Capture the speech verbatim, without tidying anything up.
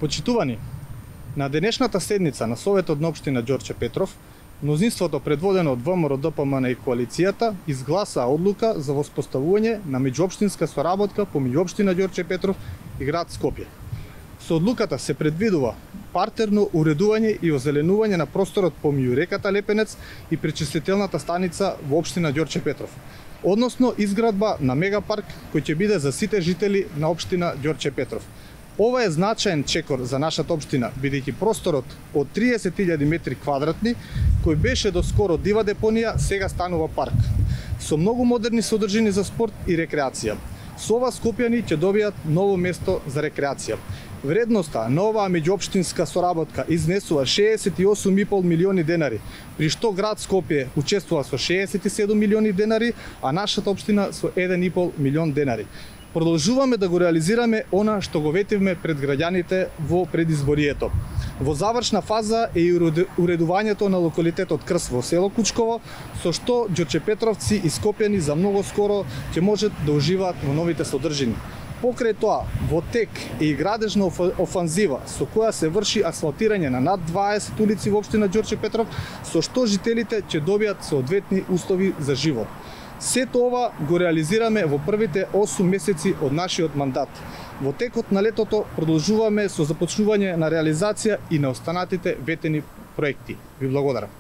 Почитувани, на денешната седница на Советот на општина Ѓорче Петров, мнозинството предводено од ВМРО-ДПМН и коалицијата изгласаа одлука за воспоставување на меѓуопштинска соработка помеѓу општина Ѓорче Петров и град Скопје. Со одлуката се предвидува партерно уредување и озеленување на просторот помеѓу реката Лепенец и пречистителната станица во општина Ѓорче Петров, односно изградба на мегапарк кој ќе биде за сите жители на општина Ѓорче Петров. Ова е значаен чекор за нашата општина, бидејќи просторот од триесет илјади метри квадратни, кој беше доскоро дива депонија, сега станува парк, со многу модерни содржини за спорт и рекреација. Со ова скопјани ќе добијат ново место за рекреација. Вредноста на оваа меѓуопштинска соработка изнесува шеесет и осум и пол милиони денари, при што град Скопје учествува со шеесет и седум милиони денари, а нашата општина со еден и пол милион денари. Продолжуваме да го реализираме она што го ветивме пред граѓаните во предизборието. Во завршна фаза е и уредувањето на локалитетот Крс во село Кучково, со што ѓорчепетровци и скопјани за многу скоро ќе можат да уживаат во новите содржини. Покрај тоа, во тек е и градежна офанзива со која се врши асфалтирање на над дваесет улици во општина Ѓорче Петров, со што жителите ќе добијат соодветни услови за живот. Сето ова го реализираме во првите осум месеци од нашиот мандат. Во текот на летото продолжуваме со започнување на реализација и на останатите ветени проекти. Ви благодарам.